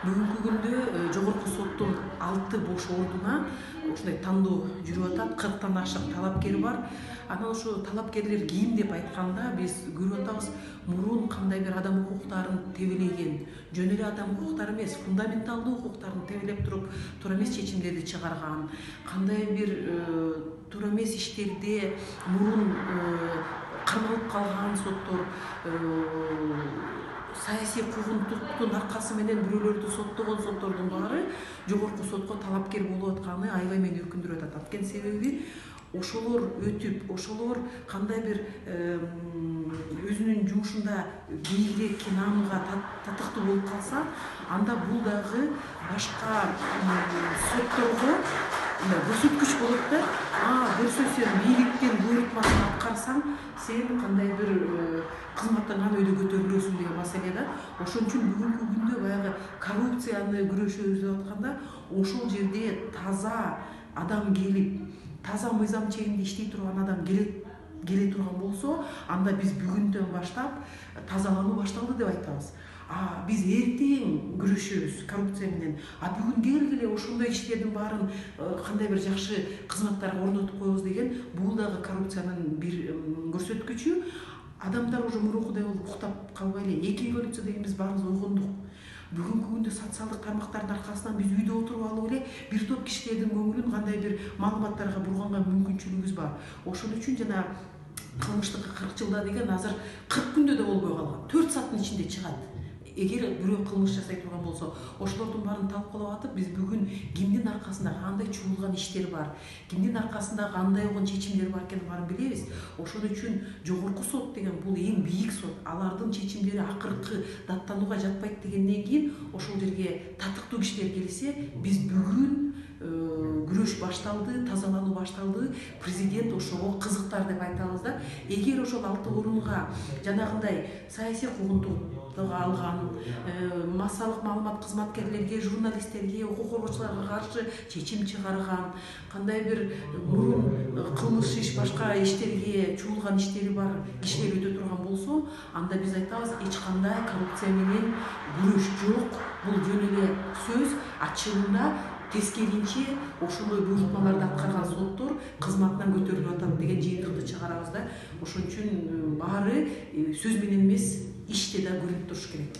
Бүгүнкү күндө жогорку соттун 6 бош ордуна ушундай тандоо жүрүп атат. 40тан ашык талапкер бар. Анан ошо талапкерлер ким деп айтканда биз көрүп атабыз, мурун кандай бир адам укуктарын тебелеген, жөн эле адам укуктары эмес, фундаменталдуу укуктарын тебелеп туруп туура эмес чечимдерди чыгарган, кандай бир туура эмес иштерде мурун кармалып калган соттор, саясий куугунтуктун аркасы менен бирөөлөрдү соттогон соттордун баары жогорку сотко талапкер болуп атканы аябай мени өкүндүрүп атат. Анткени себеби ошолор өтүп, ошолор кандай бир өзүнүн жумушунда бийигирээк наамга татыктуу болуп калса, анда бул дагы башка сотторго көрсөткүч болот да. Көрсө сен бийликтин буйрутмасын аткарсаң, сен кандай бир кызматтан өйдө көтөрүлөсүң деген маселе да. Ошон үчүн бүгүнкү күндө баягы коррупцияны күрөшөбүз деп атканда, ошол жерде таза адам келип, таза мыйзам чегинде иштей турган адам келе турган болсо, анда биз бүгүндөн баштап тазалануу башталды деп айтабыз. Биз эртең күрөшөбүз коррупция менен. Бүгүн келгиле ошондой иштердин баарын кандай бир жакшы кызматтарга орнотуп коебуз деген, бул дагы коррупциянын бир көрсөткүчү. Адамдар уже мурункудай болуп уктап калбай эле. Эки революция деген биз баарыбыз ойгондук. Бүгүнкү күндө социалдык тармактардын аркасынан биз үйдө отуруп алып эле бир топ кишилердин көңүлүн кандай бир маалыматтарга бурганга мүмкүнчүлүгүбүз бар. Ошон үчүн жана кылмыштыкка 40 жылда деген азыр 40 күндө да болбой калган. 4 сааттын ичинде чыгат. Эгер бирөө кылмыш жасай турган болсо, ошолордун баарын талкуулап атып, биз бүгүн кимдин аркасында кандай чуулган иштер бар, кимдин аркасында кандай болгон чечимдер бар экенин баарын билебиз. Ошон үчүн жогорку сот деген бул эң бийик сот. Алардын чечимдери акыркы даттанууга жатпайт дегенден кийин ошол жерге татыктуу кишилер келсе, биз бүгүн күрөш башталды, тазалануу башталды. Президент ошого кызыктар деп айтабыз да. Эгер ошол 6 орунга жанагындай саясий куугунтукту алган, массалык маалымат кызматкерлерге, журналисттерге, укук коргоочуларга каршы чечим чыгарган, кандай бир мурун кылмыш иш, башка иштерге чуулган иштери бар кишилер өтө турган болсо, анда биз айтабыз, эч кандай коррупция менен күрөш жок. Бул жөн эле сөз. Ачыгында тескеринче ошондой буйрутмаларды аткарган соттор кызматынан көтөрүлүп атат деген жыйынтыкты чыгарабыз да. Ошон үчүн баары сөз менен эмес, иште да көрүнүп туруш керек.